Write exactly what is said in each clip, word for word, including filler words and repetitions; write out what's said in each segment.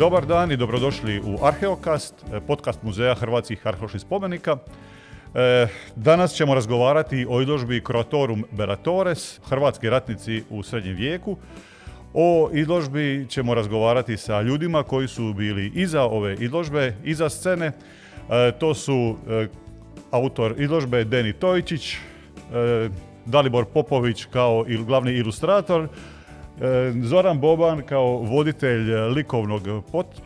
Dobar dan i dobrodošli u Arheokast, podcast Muzeja hrvatskih arheoloških spomenika. Danas ćemo razgovarati o izložbi Croatorum Bellatores, hrvatski ratnici u srednjem vijeku. O izložbi ćemo razgovarati sa ljudima koji su bili iza ove izložbe, iza scene. To su autor izložbe Deni Tojičić, Dalibor Popović kao glavni ilustrator, Zoran Boban kao voditelj likovnog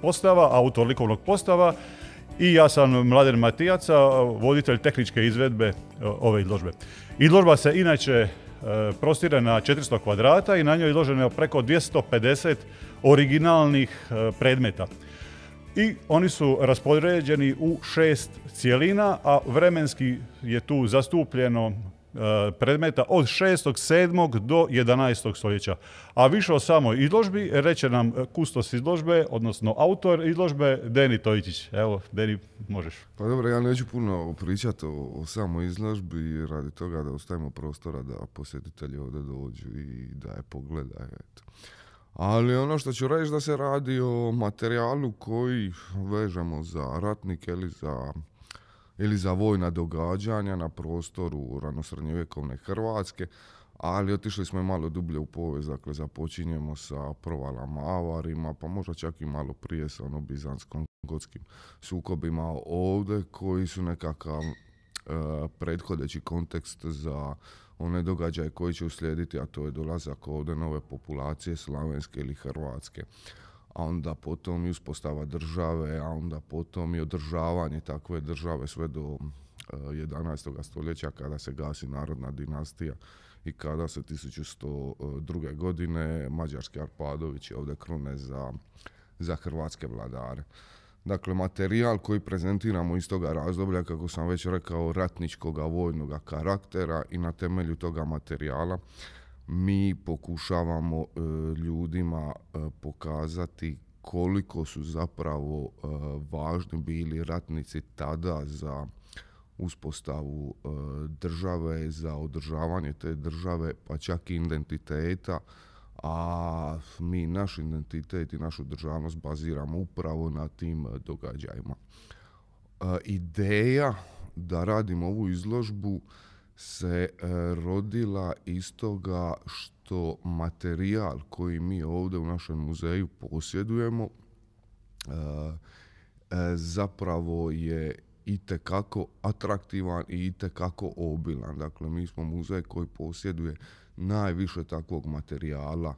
postava, autor likovnog postava i ja sam Mladen Matijaca, voditelj tehničke izvedbe ove izložbe. Izložba se inače prostire na četiristo kvadrata i na njoj izloženo je preko dvjesto pedeset originalnih predmeta. I oni su raspoređeni u šest cjelina, a vremenski je tu zastupljeno predmeta od šestog, sedmog do jedanaestog stoljeća. A više o samoj izložbi reće nam kustos izložbe, odnosno autor izložbe Deni Tojičić. Evo, Deni, možeš. Pa dobro, ja neću puno pričati o, o samoj izložbi radi toga da ostavimo prostora da posjetitelji ovdje dođu i da je pogledaju. Eto. Ali ono što ću reći da se radi o materijalu koji vežemo za ratnike ili za ili za vojna događanja na prostoru ranosrednjovjekovne Hrvatske, ali otišli smo i malo dublje u povijest, dakle započinjemo sa provalama, avarima, pa možda čak i malo prije sa ono bizanskom gotskim sukobima ovdje, koji su nekakav e, prethodeći kontekst za one događaje koji će uslijediti, a to je dolazak ovdje nove populacije slavenske ili hrvatske. A onda potom i uspostava države, a onda potom i održavanje takve države sve do uh, jedanaestog stoljeća kada se gasi narodna dinastija i kada se tisuću sto druge. godine mađarski Arpadovići ovdje krune za, za hrvatske vladare. Dakle, materijal koji prezentiramo iz toga razdoblja, kako sam već rekao, ratničkoga vojnog karaktera, i na temelju toga materijala mi pokušavamo e, ljudima e, pokazati koliko su zapravo e, važni bili ratnici tada za uspostavu e, države, za održavanje te države, pa čak i identiteta, a mi naš identitet i našu državnost baziramo upravo na tim događajima. E, ideja da radimo ovu izložbu se e, rodila iz toga što materijal koji mi ovdje u našem muzeju posjedujemo e, e, zapravo je itekako atraktivan i itekako obilan. Dakle, mi smo muzej koji posjeduje najviše takvog materijala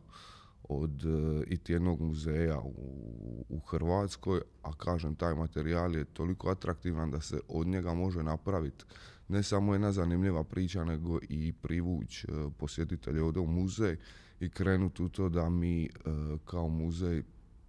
od e, iti jednog muzeja u, u Hrvatskoj, a kažem, taj materijal je toliko atraktivan da se od njega može napraviti ne samo jedna zanimljiva priča, nego i privući uh, posjetitelje ovdje u muzej i krenuti u to da mi uh, kao muzej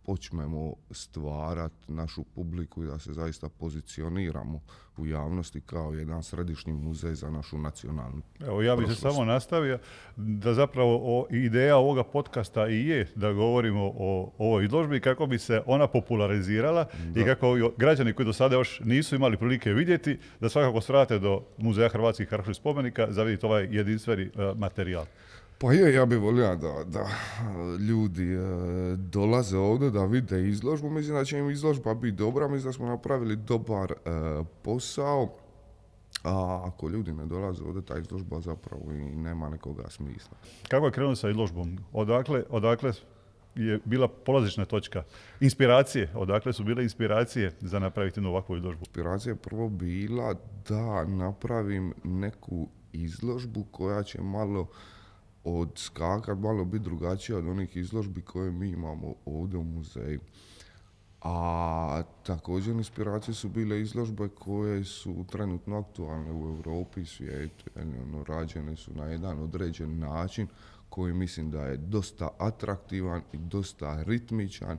počnemo stvarati našu publiku i da se zaista pozicioniramo u javnosti kao jedan središnji muzej za našu nacionalnu Evo, ja bih se samo nastavio da zapravo o, ideja ovoga podcasta i je da govorimo o ovoj izložbi kako bi se ona popularizirala da. I kako građani koji do sada još nisu imali prilike vidjeti, da svakako svrate do Muzeja hrvatskih arheoloških spomenika za vidjeti ovaj jedinstveni uh, materijal. Pa je, ja bih volio da, da ljudi e, dolaze ovdje da vide izložbu. Mislim da će im izložba biti dobra, mislim da smo napravili dobar e, posao. A ako ljudi ne dolaze ovdje, ta izložba zapravo i nema nekoga smisla. Kako je krenuo sa izložbom? Odakle, odakle je bila polazišna točka? Inspiracije, odakle su bile inspiracije za napraviti ovakvu izložbu? Inspiracija je prvo bila da napravim neku izložbu koja će malo odskakat, malo biti drugačija od onih izložbi koje mi imamo ovdje u muzeju. A također inspiracije su bile izložbe koje su trenutno aktualne u Europi i svijetu. Ono, rađene su na jedan određen način koji mislim da je dosta atraktivan i dosta ritmičan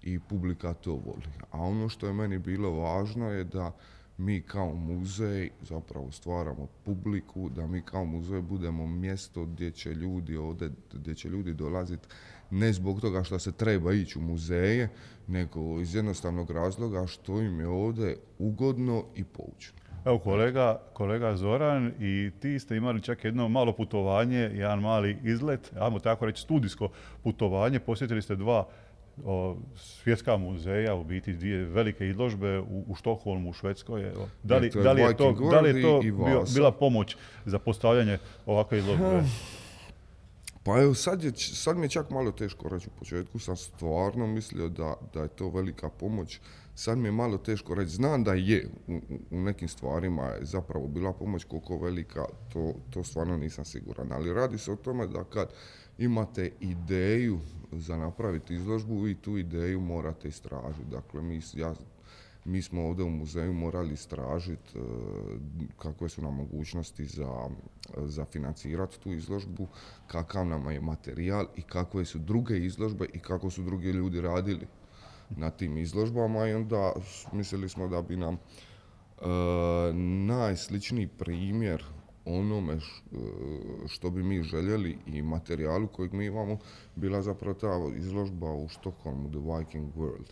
i publika to voli. A ono što je meni bilo važno je da mi kao muzej zapravo stvaramo publiku, da mi kao muzej budemo mjesto gdje će ljudi ovdje, gdje će ljudi dolaziti ne zbog toga što se treba ići u muzeje, nego iz jednostavnog razloga što im je ovdje ugodno i poučno. Evo kolega, kolega Zoran i ti ste imali čak jedno malo putovanje, jedan mali izlet, ajmo tako reći studijsko putovanje, posjetili ste dva o, svjetska muzeja, u biti dvije velike izložbe u, u Štokholmu, u Švedskoj. Evo. Da li, da li je to, da li je to bio, bila pomoć za postavljanje ovakve izložbe? Pa evo, sad, je, sad mi je čak malo teško reći. U početku sam stvarno mislio da, da je to velika pomoć. Sad mi je malo teško reći. Znam da je u, u nekim stvarima je zapravo bila pomoć, koliko velika, to, to stvarno nisam siguran. Ali radi se o tome da kad imate ideju za napraviti izložbu, vi tu ideju morate istražiti. Dakle, mi, ja, mi smo ovdje u muzeju morali istražiti uh, kakve su nam mogućnosti za, za financirati tu izložbu, kakav nam je materijal i kakve su druge izložbe i kako su drugi ljudi radili na tim izložbama, i onda mislili smo da bi nam uh, najsličniji primjer onome š, uh, što bi mi željeli i materijalu kojeg mi imamo bila zapravo ta izložba u Štokholmu, The Viking World.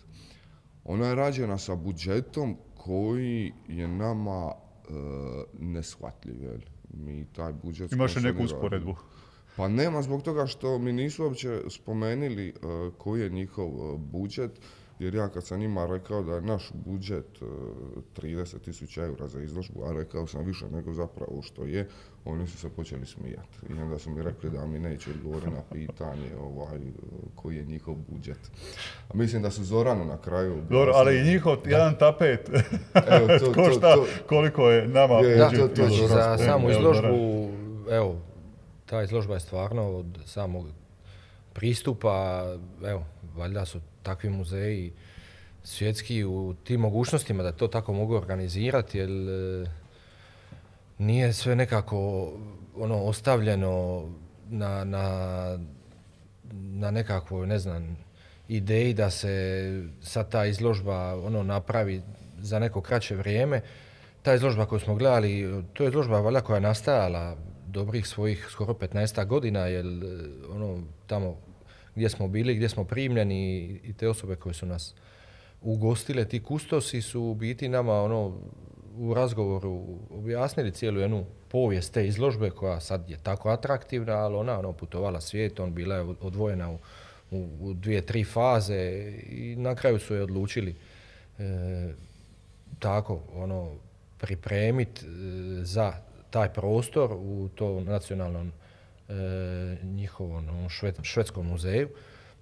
Ona je rađena sa budžetom koji je nama uh, neshvatljiv. Jel? Mi taj budžet... Imaš li neku usporedbu? Pa nema, zbog toga što mi nisu uopće spomenuli uh, koji je njihov uh, budžet, jer ja kad sam njima rekao da je naš budžet uh, trideset tisuća eura za izložbu, a rekao sam više nego zapravo što je, oni su se počeli smijati. I onda su mi rekli da mi neće odgovoriti na pitanje ovaj, koji je njihov budžet. A mislim da su Zoranu na kraju... Dobro, ali i njihov da. jedan tapet evo, to, košta to, to, koliko je nama je, budžet. Da, to, to, za samu izložbu, evo, ta izložba je stvarno od samog pristupa, evo, valjda su takvi muzeji svjetski u tim mogućnostima da to tako mogu organizirati, jer e, nije sve nekako ono ostavljeno na, na, na nekakvoj, ne znam, ideji da se sad ta izložba ono napravi za neko kraće vrijeme. Ta izložba koju smo gledali, to je izložba valjda koja je nastajala dobrih svojih skoro petnaest godina, jer ono tamo gdje smo bili, gdje smo primljeni i te osobe koje su nas ugostile, ti kustosi su u biti nama ono u razgovoru objasnili cijelu jednu povijest te izložbe koja sad je tako atraktivna, ali ona ono putovala svijetom, bila je odvojena u, u, u dvije, tri faze i na kraju su je odlučili e, tako ono pripremiti e, za taj prostor u tom nacionalnom e, njihovom šved, švedskom muzeju.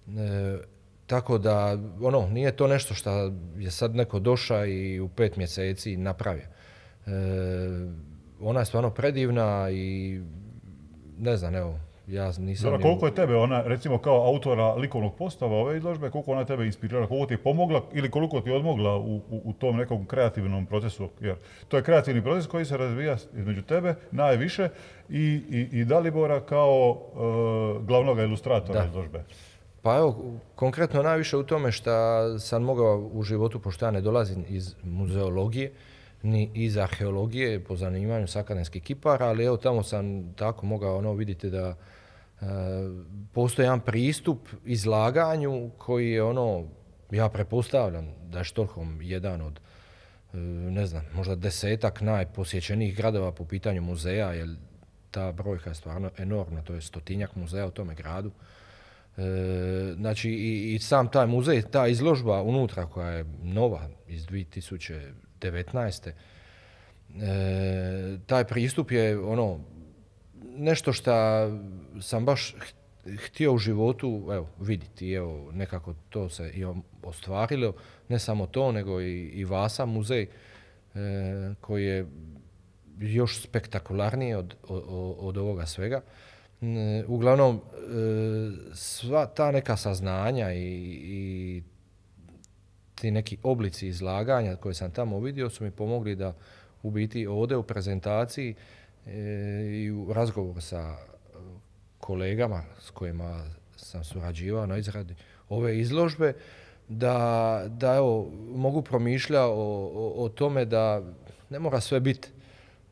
E, tako da, ono, nije to nešto što je sad neko došao i u pet mjeseci napravio. E, ona je stvarno predivna i ne znam, evo, ja nisam... Zora, koliko je tebe ona, recimo kao autora likovnog postava ove izložbe, koliko ona tebe inspirirala, koliko ti je pomogla ili koliko ti je odmogla u, u, u tom nekom kreativnom procesu? Jer to je kreativni proces koji se razvija između tebe najviše i, i, i Dalibora kao uh, glavnog ilustratora da. izložbe. Pa evo, konkretno najviše u tome što sam mogao u životu, pošto ja ne dolazim iz muzeologije, ni iz arheologije, po zanimanju sa akademskih kipara, ali evo tamo sam tako mogao ono vidjeti da e, postoji jedan pristup izlaganju koji je ono, ja pretpostavljam da je Štokholm jedan od, e, ne znam, možda desetak najposjećenijih gradova po pitanju muzeja, jer ta brojka je stvarno enormna, to je stotinjak muzeja u tome gradu. E, znači i, i sam taj muzej, ta izložba unutra koja je nova iz dvije tisuće devetnaeste. E, taj pristup je ono nešto što sam baš htio u životu evo, vidjeti. Evo, nekako to se i ostvarilo. Ne samo to, nego i, i Vasa muzej e, koji je još spektakularniji od, od, od ovoga svega. E, uglavnom, e, sva ta neka saznanja i, i ti neki oblici izlaganja koje sam tamo vidio su mi pomogli da u biti ovdje u prezentaciji e, i u razgovoru sa kolegama s kojima sam surađivao na izradi ove izložbe, da, da evo, mogu promišljati o, o, o tome da ne mora sve biti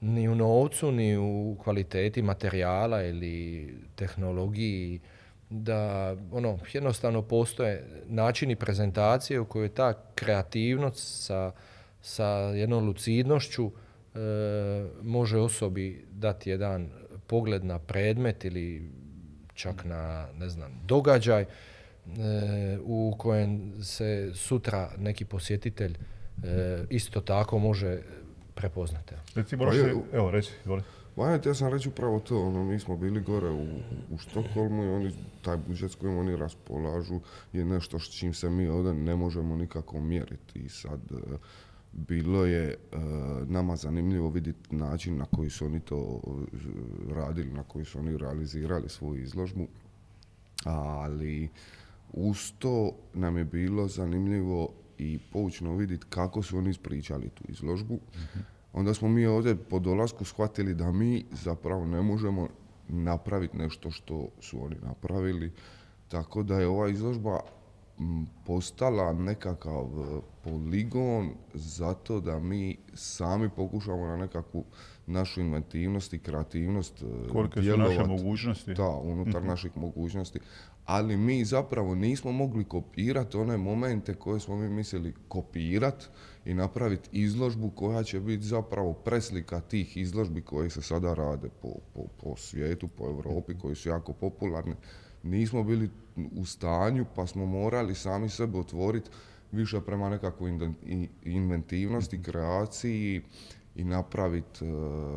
ni u novcu, ni u kvaliteti materijala ili tehnologiji, da ono, jednostavno postoje načini prezentacije u kojoj ta kreativnost sa, sa jednom lucidnošću e, može osobi dati jedan pogled na predmet ili čak na, ne znam, događaj u kojem se sutra neki posjetitelj isto tako može prepoznati. Recimo, pa evo, reći, izvoli. Vajet, ja sam reći upravo to, ono, mi smo bili gore u, u Štokholmu i oni, taj budžet s kojim oni raspolažu je nešto s čim se mi ovdje ne možemo nikako mjeriti. I sad, bilo je uh, nama zanimljivo vidjeti način na koji su oni to radili, na koji su oni realizirali svoju izložbu, ali uz to nam je bilo zanimljivo i poučno vidjeti kako su oni ispričali tu izložbu. Mm-hmm. Onda smo mi ovdje po dolasku shvatili da mi zapravo ne možemo napraviti nešto što su oni napravili, tako da je ova izložba postala nekakav poligon zato da mi sami pokušamo na nekakvu našu inventivnost i kreativnost kolike su naše mogućnosti. Da, unutar mm-hmm. naših mogućnosti. Ali mi zapravo nismo mogli kopirati one momente koje smo mi mislili kopirati i napraviti izložbu koja će biti zapravo preslika tih izložbi koje se sada rade po, po, po svijetu, po Europi, koji su jako popularne. Nismo bili u stanju, pa smo morali sami sebe otvoriti više prema nekakvoj inventivnosti, kreaciji i napraviti uh,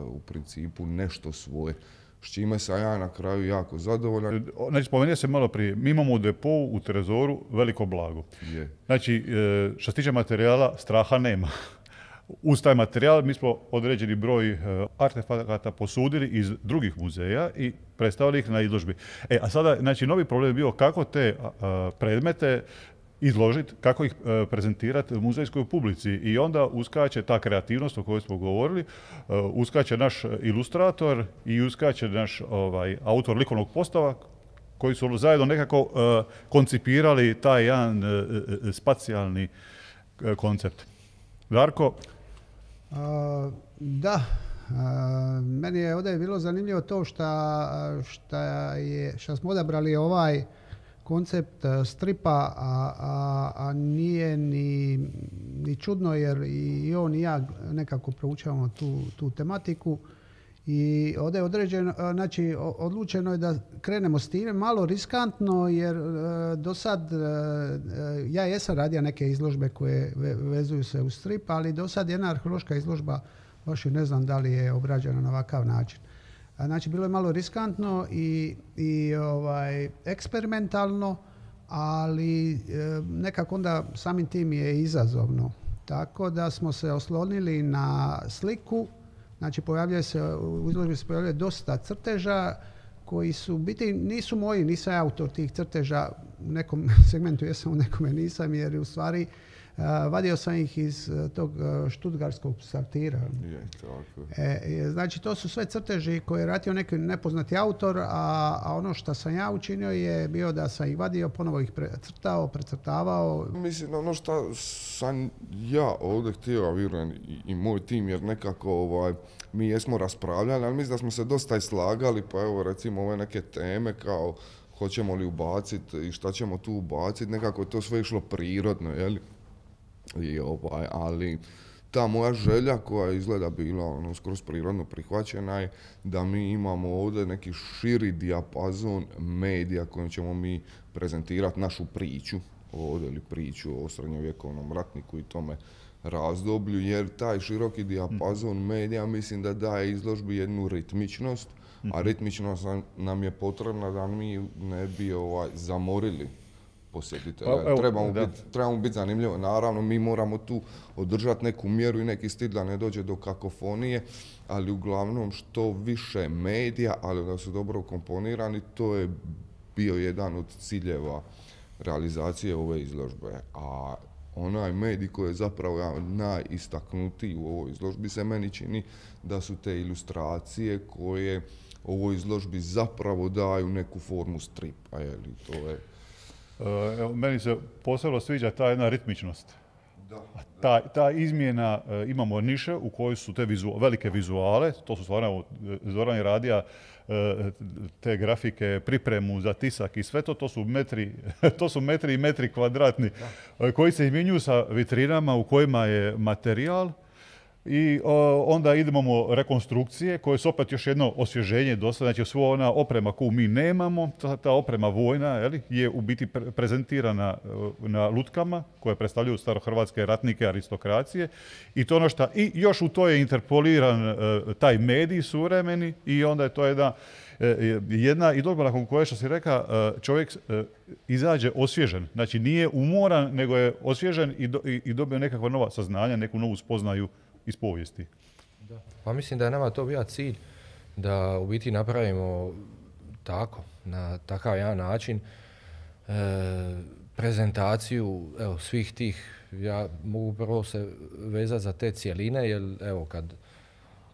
u principu nešto svoje. S čime sam ja na kraju jako zadovoljan. Znači, spomenuo se malo prije, mi imamo u depou, u Trezoru, veliko blago. Je. Znači, što se tiče materijala, straha nema. Uz taj materijal mi smo određeni broj artefakata posudili iz drugih muzeja i predstavili ih na izložbi. E, a sada, znači, novi problem je bio kako te a, predmete izložiti, kako ih e, prezentirati muzejskoj publici. I onda uskače ta kreativnost o kojoj smo govorili, e, uskače naš ilustrator i uskače naš ovaj, autor likovnog postava, koji su zajedno nekako e, koncipirali taj jedan e, e, spacijalni e, koncept. Darko? A, da, a, meni je ovdje bilo zanimljivo to šta, šta, je, šta smo odabrali ovaj koncept stripa, a, a, a nije ni, ni čudno jer i on i ja nekako proučavamo tu, tu tematiku. I ovdje je određeno, znači odlučeno je da krenemo s time, malo riskantno jer do sad ja jesam radio neke izložbe koje vezuju se u strip, ali do sad jedna arheološka izložba baš i ne znam da li je obrađena na ovakav način. Znači bilo je malo riskantno i, i ovaj, eksperimentalno, ali nekako onda samim tim je izazovno. Tako da smo se oslonili na sliku. Znači, pojavljuje se, u izložbi se pojavljuje dosta crteža koji su, biti, nisu moji, nisam autor tih crteža, u nekom segmentu jesam, u nekome nisam, jer u stvari uh, vadio sam ih iz uh, tog uh, štutgarskog psaltira. Je, tako. E, znači, to su sve crteži koje je ratio neki nepoznati autor, a, a ono što sam ja učinio je bio da sam ih vadio, ponovo ih precrtao, precrtavao. Mislim, ono što sam ja ovdje htio, a vjerujem i, i moj tim, jer nekako ovaj, mi jesmo raspravljali, ali mislim da smo se dosta i slagali, pa evo recimo ove neke teme kao hoćemo li ubaciti i šta ćemo tu ubaciti, nekako je to sve išlo prirodno, jel? I ovaj, ali ta moja želja koja izgleda bila ono, skroz prirodno prihvaćena je da mi imamo ovdje neki širi dijapazon medija kojim ćemo mi prezentirati našu priču ovdje ili priču o srednjovjekovnom ratniku i tome razdoblju, jer taj široki dijapazon medija mislim da daje izložbi jednu ritmičnost, a ritmičnost nam je potrebna da mi ne bi ovaj, zamorili posjetitelja. Pa, trebamo biti trebamo biti zanimljivo. Naravno, mi moramo tu održati neku mjeru i neki stil da ne dođe do kakofonije, ali uglavnom što više medija, ali da su dobro komponirani, to je bio jedan od ciljeva realizacije ove izložbe. A onaj medij koji je zapravo najistaknutiji u ovoj izložbi se meni čini da su te ilustracije koje ovoj izložbi zapravo daju neku formu stripa. Jeli, to je... Evo, meni se posebno sviđa ta jedna ritmičnost. Da, da. Ta, ta izmjena, e, imamo niše u kojoj su te vizu, velike vizuale, to su stvarno, Zoran je radija e, te grafike, pripremu za tisak i sve to, to su metri, to su metri i metri kvadratni, e, koji se izmjenjuju sa vitrinama u kojima je materijal I o, onda idemo rekonstrukcije koje su opet još jedno osvježenje do sada. Znači sva ona oprema koju mi nemamo, ta, ta oprema vojna jeli, je u biti pre- prezentirana na lutkama koje predstavljaju starohrvatske ratnike aristokracije. I to ono što, i još u to je interpoliran uh, taj medij suvremeni i onda je to jedna jedna i dobro nakon koje što si reka čovjek izađe osvježen. Znači nije umoran, nego je osvježen i, do, i, i dobio nekakva nova saznanja, neku novu spoznaju iz povijesti. Da. Pa mislim da je nama to bio cilj da u biti napravimo tako, na takav jedan način e, prezentaciju evo, svih tih, ja mogu prvo se vezati za te cjeline, jer evo kad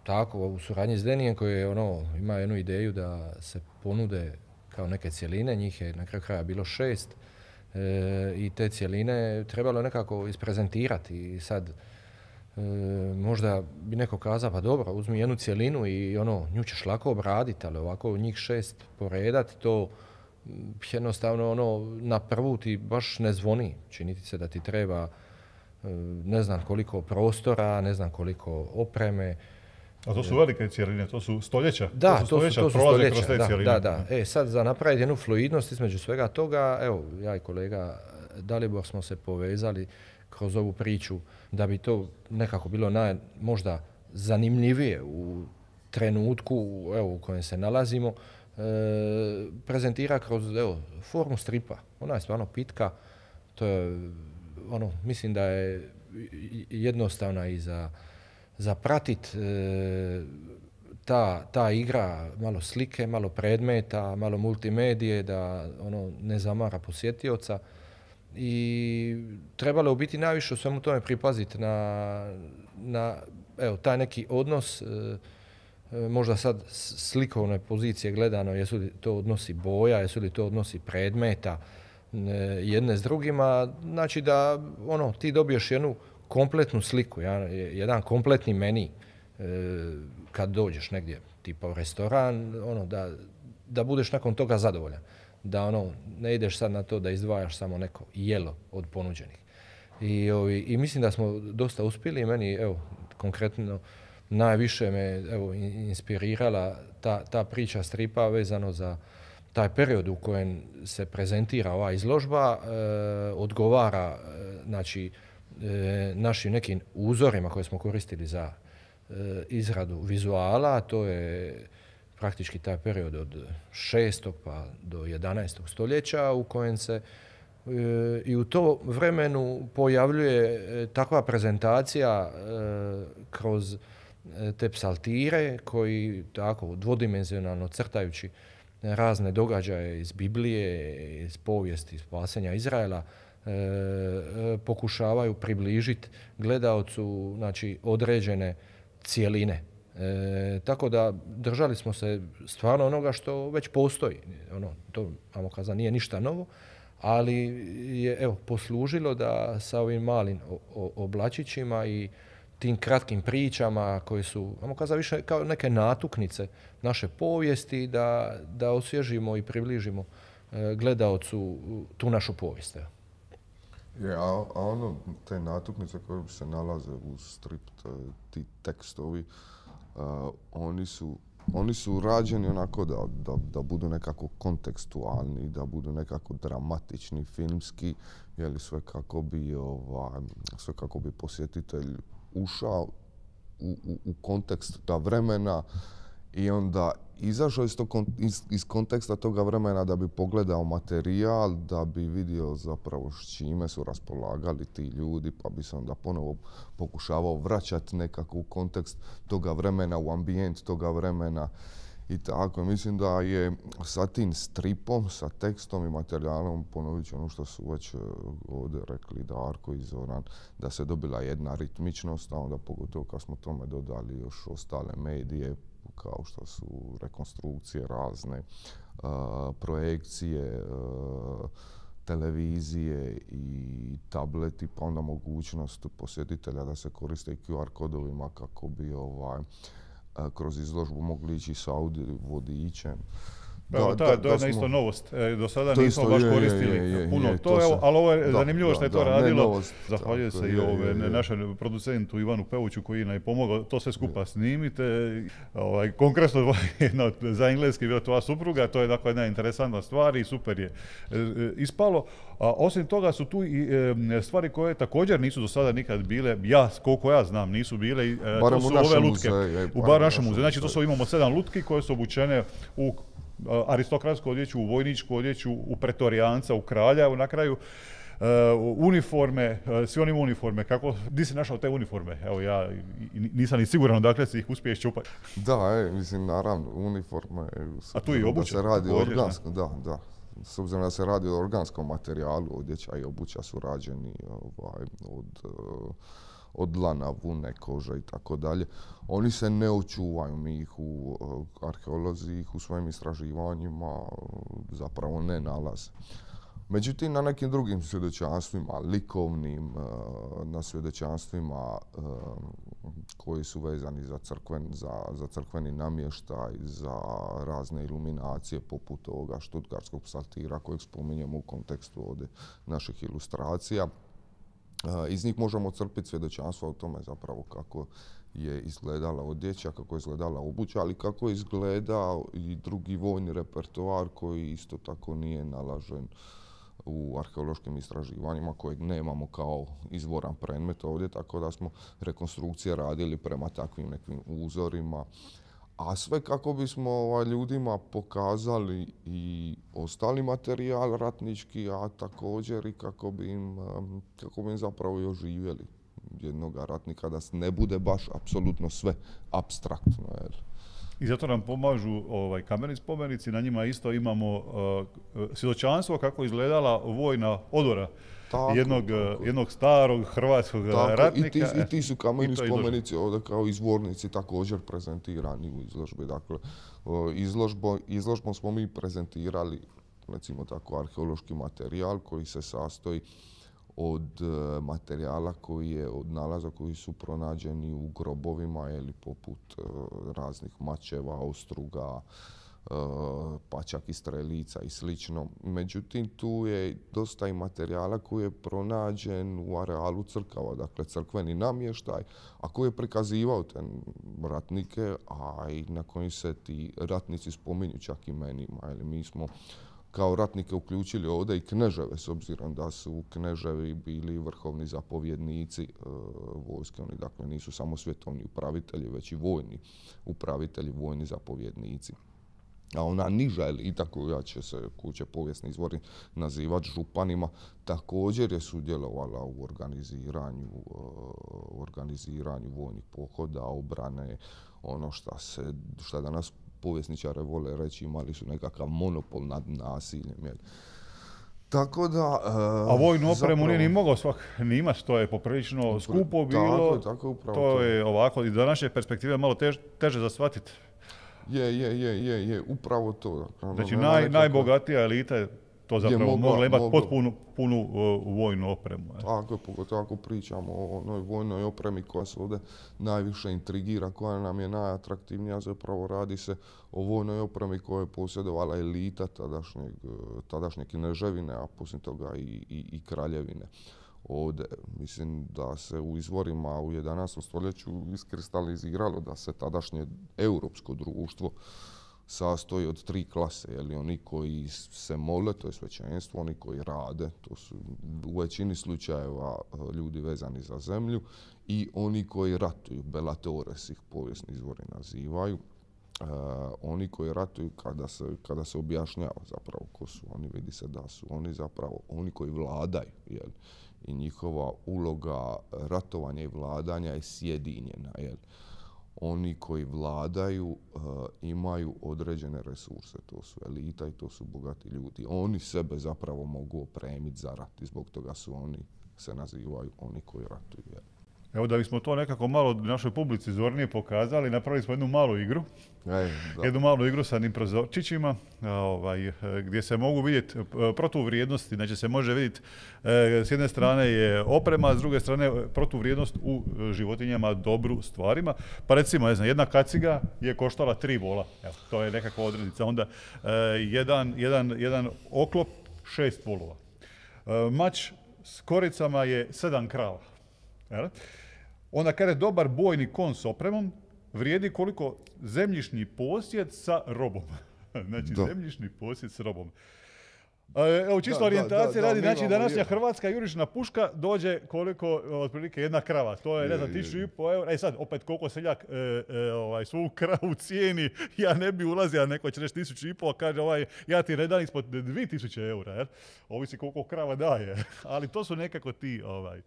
tako, u suradnji s Denijem koji je ono, ima jednu ideju da se ponude kao neke cjeline, njih je na kraju kraja bilo šest e, i te cjeline trebalo nekako isprezentirati i sad e, možda bi neko kazao pa dobro, uzmi jednu cjelinu i ono, nju ćeš lako obraditi, ali ovako njih šest poredati, to jednostavno ono, na prvu ti baš ne zvoni, čini ti se da ti treba e, ne znam koliko prostora, ne znam koliko opreme. A to su velike cjeline, to su stoljeća. Da, to su stoljeća, to su, to su stoljeća, kroz te da, cjeline. da, da. E, sad za napraviti jednu fluidnost između svega toga, evo, ja i kolega Dalibor smo se povezali kroz ovu priču da bi to nekako bilo naj, možda zanimljivije u trenutku evo, u kojem se nalazimo, e, prezentira kroz evo, formu stripa. Ona je stvarno pitka, to je, ono, mislim da je jednostavna i za za pratit e, ta, ta igra, malo slike, malo predmeta, malo multimedije, da ono ne zamara posjetioca. I trebalo u biti najviše u svemu tome pripaziti na, na evo, taj neki odnos, e, možda sad slikovne pozicije gledano, jesu li to odnosi boja, jesu li to odnosi predmeta e, jedne s drugima, znači da ono, ti dobiješ jednu kompletnu sliku, jedan kompletni meni e, kad dođeš negdje, tipa u restoran, ono, da, da budeš nakon toga zadovoljan. Da ono, ne ideš sad na to da izdvajaš samo neko jelo od ponuđenih. I, ovi, i mislim da smo dosta uspjeli i meni, evo, konkretno, najviše me evo, inspirirala ta, ta priča stripa vezano za taj period u kojem se prezentira ova izložba, e, odgovara, e, znači, E, našim nekim uzorima koje smo koristili za e, izradu vizuala, to je praktički taj period od šestog pa do jedanaestog stoljeća u kojem se e, i u to vremenu pojavljuje e, takva prezentacija e, kroz e, te psaltire koji tako dvodimenzionalno crtajući razne događaje iz Biblije, iz povijesti, spasenja Izraela, E, pokušavaju približiti gledaocu znači, određene cjeline. E, tako da držali smo se stvarno onoga što već postoji. Ono, to, ajmo kazati, nije ništa novo, ali je evo, poslužilo da sa ovim malim o, o, oblačićima i tim kratkim pričama koje su, ajmo kazati, više kao neke natuknice naše povijesti, da, da osvježimo i približimo e, gledaocu tu našu povijest. Evo. Je, a, a ono, te natuknice koje se nalaze u strip, ti tekstovi, uh, oni su, oni su rađeni onako da, da, da budu nekako kontekstualni, da budu nekako dramatični, filmski, jeli sve kako bi, ovaj, sve kako bi posjetitelj ušao u, u, u kontekst ta vremena i onda izašao iz, to, iz, iz konteksta toga vremena da bi pogledao materijal, da bi vidio zapravo s čime su raspolagali ti ljudi, pa bi se onda ponovo pokušavao vraćati nekako u kontekst toga vremena, u ambijent toga vremena i tako. Mislim da je sa tim stripom, sa tekstom i materijalom, ponovit ću ono što su već ovdje rekli Darko i Zoran, da se dobila jedna ritmičnost, a onda pogotovo kad smo tome dodali još ostale medije, kao što su rekonstrukcije razne, uh, projekcije, uh, televizije i tableti, pa onda mogućnost posjetitelja da se koriste i Q R kodovima kako bi ovaj, uh, kroz izložbu mogli ići sa audio vodičem. Da, ta, to je jedna isto novost. E, do sada to nismo isto, baš je, koristili je, je, puno je, to, to evo, se, ali ovo je da, zanimljivo da, što je to da, radilo. novost, Zahvaljujem tako, se i je, ove, je, je. našem producentu Ivanu Pevuću koji nam je pomogao to sve skupa snimite. Ovaj, konkretno jedna za engleski bila tvoja supruga, to je dakle jedna interesantna stvar i super je e, e, ispalo. A osim toga su tu i e, stvari koje također nisu do sada nikad bile, ja, koliko ja znam, nisu bile, e, to su ove lutke. Muzeju, u bar našem muzeju. Znači to su, imamo sedam lutki koje su obučene u aristokratsku odjeću, u vojničku odjeću, u pretorijanca, u kralja, na kraju uh, uniforme, uh, svi oni uniforme, kako, gdje si našao te uniforme? Evo ja nisam ni siguran dakle si ih uspiješ čupati. Da, e, mislim, naravno, uniforme, a tu i obuća, da se radi također, organsko, da, da. S obzirom da se radi o organskom materijalu, odjeća i obuća su rađeni ovaj, od, od lana, vune, kože i tako dalje. Oni se ne očuvaju, mi ih u arheolozi ih u svojim istraživanjima zapravo ne nalaze. Međutim, na nekim drugim svjedočanstvima, likovnim, na svjedočanstvima koji su vezani za, crkven, za, za crkveni namještaj, za razne iluminacije poput ovoga štutgartskog psaltira kojeg spominjemo u kontekstu ovdje naših ilustracija. Iz njih možemo crpiti svjedočanstva o tome zapravo kako je izgledala odjeća, kako je izgledala obuća, ali kako je izgledao i drugi vojni repertoar koji isto tako nije nalažen u arheološkim istraživanjima kojeg nemamo kao izvoran predmet ovdje, tako da smo rekonstrukcije radili prema takvim nekim uzorima. A sve kako bismo ovaj, ljudima pokazali i ostali materijal ratnički, a također i kako bi im, kako bi im zapravo i oživjeli jednog ratnika, da ne bude baš apsolutno sve apstraktno. Jer I zato nam pomažu ovaj, kameni spomenici, na njima isto imamo uh, svjedočanstvo kako izgledala vojna odora tako, jednog, tako. jednog starog hrvatskog tako, ratnika. I ti, i ti su kameni spomenici ovdje kao izvornici također prezentirani u izložbi. Dakle, izložbo, izložbom smo mi prezentirali, recimo tako, arheološki materijal koji se sastoji od materijala koji je od nalaza koji su pronađeni u grobovima ili poput uh, raznih mačeva, ostruga, uh, pa čak i strelica i slično. Međutim, tu je dosta i materijala koji je pronađen u arealu crkava, dakle crkveni namještaj, a koji je prikazivao te ratnike, a i na kojim se ti ratnici spominju čak imenima. Ili mi smo kao ratnike uključili ovdje i kneževe, s obzirom da su kneževi bili vrhovni zapovjednici e, vojske. Oni dakle nisu samo svjetovni upravitelji, već i vojni upravitelji, vojni zapovjednici. A ona niža elita koja će se kuće povijesni izvori nazivati županima, također je sudjelovala u organiziranju, uh, organiziranju vojnih pohoda, obrane, ono šta se, šta danas povjesničare vole reći, imali su nekakav monopol nad nasiljem. Jel? Tako da... Uh, A vojnu opremu zapravo nije ni mogao svak ni imati, to je poprilično skupo bilo. Tako, tako, upravo to je ovako, iz današnje perspektive malo tež, teže za shvatiti. Je, je, je, je, je, upravo to. Znači, naj, nekako... najbogatija elita je to zapravo je mogla, mogla imati mogla... potpunu punu, uh, vojnu opremu. Je. Tako, pogotovo ako pričamo o onoj vojnoj opremi koja se ovdje najviše intrigira, koja nam je najatraktivnija, zapravo radi se o vojnoj opremi koja je posjedovala elita tadašnjeg, tadašnje kneževine, a poslije toga i, i, i kraljevine. Ovdje, mislim da se u izvorima u jedanaestom stoljeću iskristaliziralo da se tadašnje europsko društvo sastoji od tri klase, jeli, oni koji se mole, to je svećenstvo, oni koji rade, to su u većini slučajeva ljudi vezani za zemlju, i oni koji ratuju, bellatores ih povijesni izvori nazivaju. Uh, oni koji ratuju kada se, kada se objašnjava zapravo ko su oni, vidi se da su oni zapravo oni koji vladaju, jel? I njihova uloga ratovanja i vladanja je sjedinjena. Jel? Oni koji vladaju uh, imaju određene resurse, to su elita i to su bogati ljudi. Oni sebe zapravo mogu opremiti za rat i zbog toga su oni, se nazivaju oni koji ratuju. Jel? Evo da bismo to nekako malo našoj publici zornije pokazali, napravili smo jednu malu igru. Ej, jednu malu igru sa prozorčićima, ovaj, gdje se mogu vidjeti protuvrijednosti, znači se može vidjeti s jedne strane je oprema, a s druge strane protuvrijednost u životinjama, dobru stvarima. Pa recimo, ne znam, jedna kaciga je koštala tri vola, evo, to je nekakva odrednica. Onda jedan, jedan, jedan oklop, šest volova. Mač s koricama je sedam krava. Jel? Onda kada je dobar bojni kon s opremom, vrijedi koliko zemljišni posjed sa robom. Znači, da. Zemljišni posjed s robom. Evo, čisto da, orijentacije da, da, radi, da, znači današnja je. Hrvatska jurišna puška dođe koliko, otprilike, jedna krava. To je, je ne znam, tisuću i po eura. E sad, opet, koliko seljak e, e, ovaj, svu kravu cijeni, ja ne bi ulazio, a neko će reći tisuću i po, a kaže, ovaj, ja ti ne dam ispod dvije tisuće eura. Jer? Ovisi koliko krava daje. Ali to su nekako ti ovaj,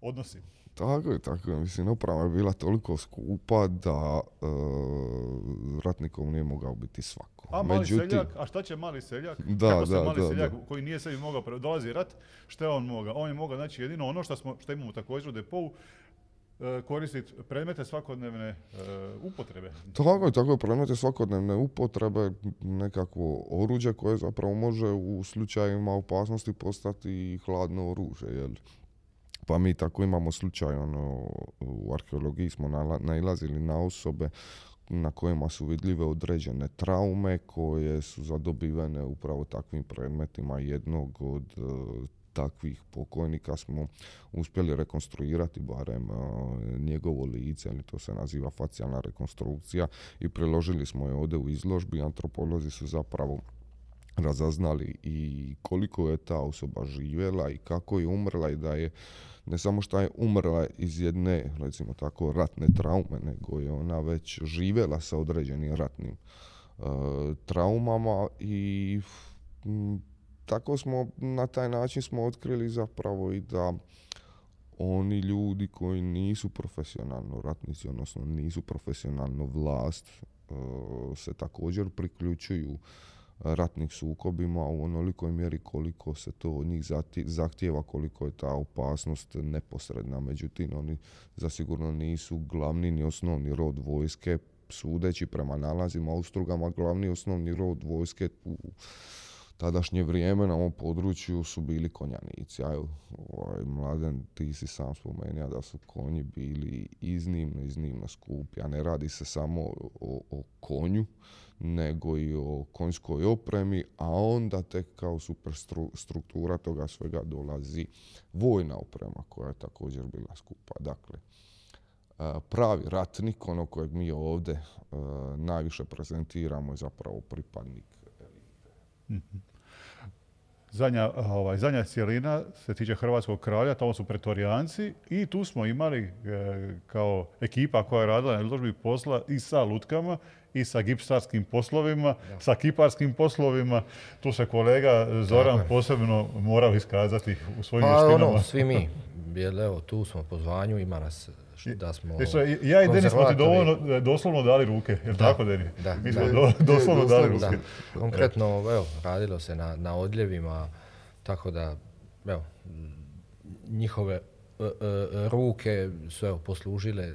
odnosi. Tako je, tako je. Mislim, oprava je bila toliko skupa da uh, ratnikom nije mogao biti svako. A mali Međutim, seljak, a šta će mali seljak? Da, Kako se da, mali da, seljak da. koji nije sebi mogao, dolazi rat, što je on mogao? On je mogao, znači jedino ono što, smo, što imamo također u depou, uh, koristiti predmete svakodnevne uh, upotrebe. Tako je, tako je, predmete svakodnevne upotrebe, nekakvo oruđe koje zapravo može u slučajima opasnosti postati hladno oružje, jel? Pa mi tako imamo slučaj, ono, u arheologiji smo nailazili na osobe na kojima su vidljive određene traume koje su zadobivene upravo takvim predmetima. Jednog od uh, takvih pokojnika smo uspjeli rekonstruirati, barem uh, njegovo lice, ali to se naziva facijalna rekonstrukcija, i priložili smo je ovdje u izložbi. Antropolozi su zapravo razaznali i koliko je ta osoba živjela i kako je umrla, i da je ne samo što je umrla iz jedne, recimo tako, ratne traume, nego je ona već živjela sa određenim ratnim uh, traumama, i m, tako smo, na taj način smo otkrili zapravo i da oni ljudi koji nisu profesionalno ratnici, odnosno nisu profesionalno vlast, uh, se također priključuju ratnih sukobima u onolikoj mjeri koliko se to od njih zahtijeva, koliko je ta opasnost neposredna. Međutim, oni zasigurno nisu glavni ni osnovni rod vojske, sudeći prema nalazima u Strugama. Glavni osnovni rod vojske u tadašnje vrijeme na ovom području su bili konjanici. A ovaj, Mladen, ti si sam spomenuo da su konji bili iznimno, iznimno skupi. A ne radi se samo o, o konju, nego i o konjskoj opremi, a onda tek kao superstruktura toga svega dolazi vojna oprema koja je također bila skupa. Dakle, pravi ratnik, ono kojeg mi ovdje najviše prezentiramo, je zapravo pripadnik elite. Mm-hmm. Zadnja, ovaj, zadnja cijelina se tiče hrvatskog kralja, tamo su pretorijanci, i tu smo imali e, kao ekipa koja je radila na izložbi posla i sa lutkama, i sa gipsarskim poslovima, ja. sa kiparskim poslovima. Tu se kolega Zoran Tako posebno morao iskazati u svojim pa, vještinama. Ono, svi mi, jer evo, tu smo po zvanju, ima nas da smo Jesu, ja i Denis smo ti dovoljno, doslovno dali ruke, je li tako, Denis? Da, mi smo da. Do, doslovno da, dali ruke. Da. Konkretno, evo, radilo se na, na odljevima, tako da, evo, njihove e, e, ruke su, evo, poslužile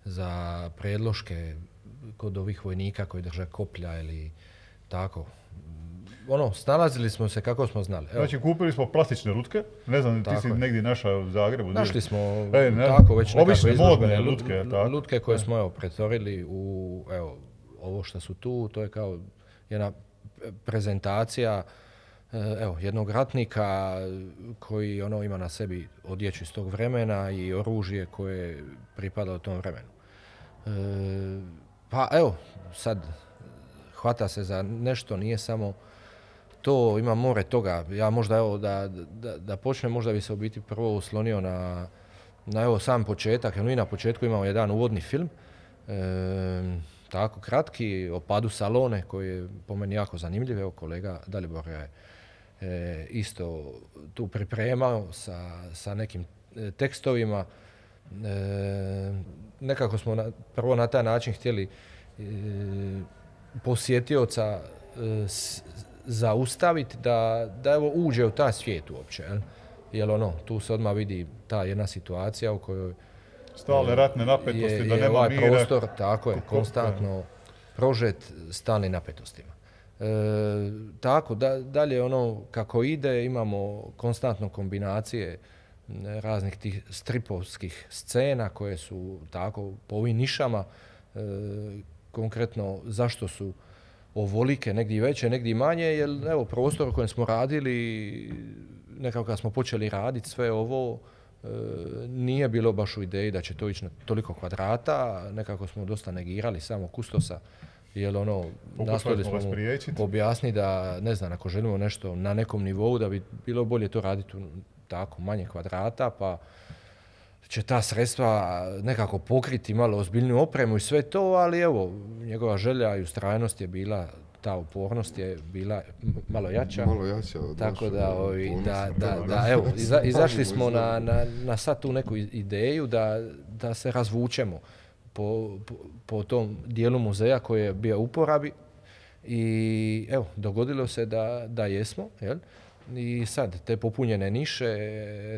za predloške kod ovih vojnika koji drže koplja ili tako. Ono, snalazili smo se kako smo znali. Evo. Znači, kupili smo plastične lutke, ne znam, tako ti si je. negdje našao u Zagrebu. Našli smo e, ne, tako već nekakve izložbene lutke, tako. lutke koje smo, evo, pretvorili u, evo, ovo što su tu, to je kao jedna prezentacija, evo, jednog ratnika koji, ono, ima na sebi odjeću iz tog vremena i oružje koje pripada u tom vremenu. E, pa evo, sad hvata se za nešto, nije samo to, ima more toga. Ja možda, evo, da, da, da počnem, možda bi se u biti prvo uslonio na, na evo, sam početak, jer mi na početku imamo jedan uvodni film, e, tako kratki, o padu Salone, koji je po meni jako zanimljiv. Evo, kolega Dalibor je e, isto tu pripremao sa, sa nekim e, tekstovima. E, nekako smo na, prvo na taj način htjeli e, posjetioca e, s, zaustaviti da, da evo uđe u taj svijet uopće. Jel? Jer ono, tu se odmah vidi ta jedna situacija u kojoj Stalne ratne napetosti, je, da je nema ovaj mira. prostor, tako je, konstantno prožet stalnim napetostima. E, tako, da, dalje ono kako ide, imamo konstantno kombinacije raznih tih stripovskih scena koje su tako po ovim nišama, e, konkretno zašto su ovolike, negdje veće, negdje manje, jer evo prostor u kojem smo radili, nekako kad smo počeli raditi sve ovo, e, nije bilo baš u ideji da će to ići na toliko kvadrata, nekako smo dosta negirali samo kustosa, jer ono, nastojali smo mu objasniti da, ne znam, ako želimo nešto na nekom nivou, da bi bilo bolje to raditi u tako manje kvadrata, pa će ta sredstva nekako pokriti malo ozbiljniju opremu i sve to, ali evo, njegova želja i ustrajnost je bila, ta upornost je bila malo jača. Malo jača od tako da, ovi, da, da, da, evo, iza, izašli smo na, na, na sad tu neku ideju da, da se razvučemo po, po, po tom dijelu muzeja koji je bio u uporabi i evo, dogodilo se da, da jesmo, jel? I sad, te popunjene niše,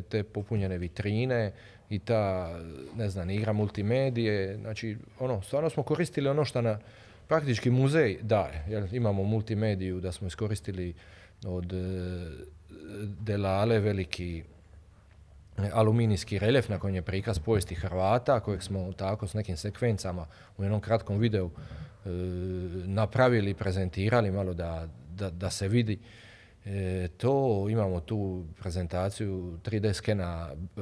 te popunjene vitrine i ta, ne znam, igra multimedije, znači, ono, stvarno smo koristili ono što na praktički muzej daje, jer imamo multimediju da smo iskoristili od e, Delale veliki aluminijski reljef na kojem je prikaz povijesti Hrvata, kojeg smo tako s nekim sekvencama u jednom kratkom videu e, napravili, prezentirali malo da, da, da se vidi. E, to imamo tu prezentaciju tri D skena e,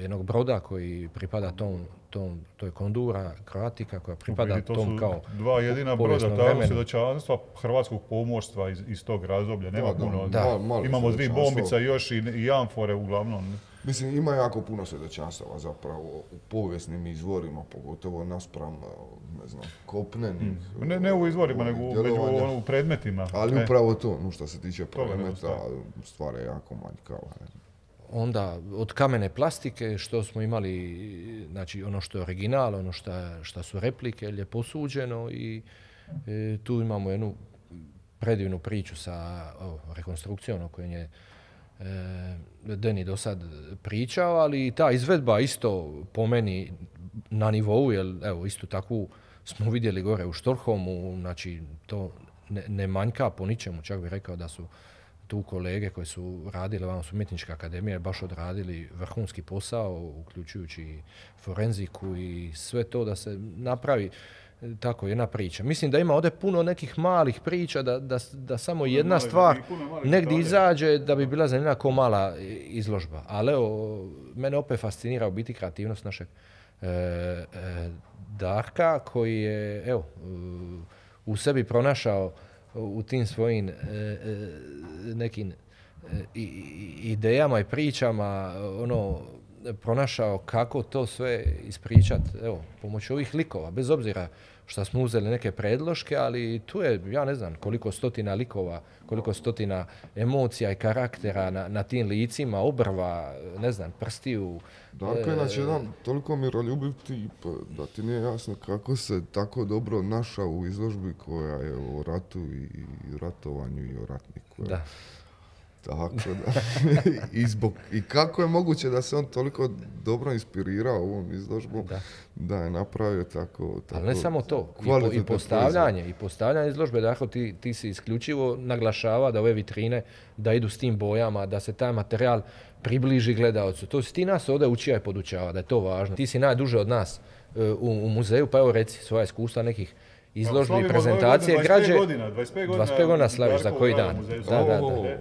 jednog broda koji pripada tom, tom to je Kondura Croatica koja pripada Vidi, to tom kao dva jedina broda, tako svjedočanstva hrvatskog pomorstva iz, iz tog razdoblja, nema da, puno. Da. Da. Imamo dvije bombica još i, i amfore uglavnom. Mislim, ima jako puno svjedočanstava zapravo u povijesnim izvorima, pogotovo naspram, ne znam, kopnenih. Mm. Ne, ne u izvorima, nego među ono, u predmetima. Ali e. upravo to, no što se tiče predmeta, stvar je jako manjkava. Onda od kamene plastike što smo imali, znači ono što je original, ono što su replike, je posuđeno i e, tu imamo jednu predivnu priču sa o, rekonstrukcijom o kojoj je Deni do sad pričao, ali ta izvedba isto po meni na nivou, jer evo isto takvu smo vidjeli gore u Stockholmu, znači to ne, ne manjka po ničemu, čak bih rekao da su tu kolege koji su radili, vamo su umjetnička akademija, baš odradili vrhunski posao, uključujući forenziku i sve to da se napravi tako jedna priča. Mislim da ima ovdje puno nekih malih priča, da, da, da samo jedna stvar negdje izađe da bi bila zanimljiva kao mala izložba. Ali evo, mene opet fascinira u biti kreativnost našeg e, e, Darka koji je evo, u sebi pronašao u tim svojim e, e, nekim e, idejama i pričama ono, pronašao kako to sve ispričat, evo, pomoću ovih likova, bez obzira što smo uzeli neke predloške, ali tu je, ja ne znam, koliko stotina likova, koliko stotina emocija i karaktera na, na tim licima, obrva, ne znam, prstiju. Darko je znači jedan toliko miroljubiv tip da ti nije jasno kako se tako dobro našao u izložbi koja je o ratu i ratovanju i o ratniku. Da. Tako da. I, zbog, I kako je moguće da se on toliko dobro inspirirao ovom izložbom da, da je napravio tako, tako... Ali ne samo to, i, po, i postavljanje, i postavljanje izložbe, dakle ti, ti si isključivo naglašava da ove vitrine, da idu s tim bojama, da se taj materijal približi gledaocu. To si ti nas ovdje učija i podučava, da je to važno. Ti si najduže od nas uh, u, u muzeju, pa evo reci svoja iskustva nekih izložbi i prezentacije građe. dvadeset pet godina, dvadeset pet godina slaviš, za koji dan. Da, da, da.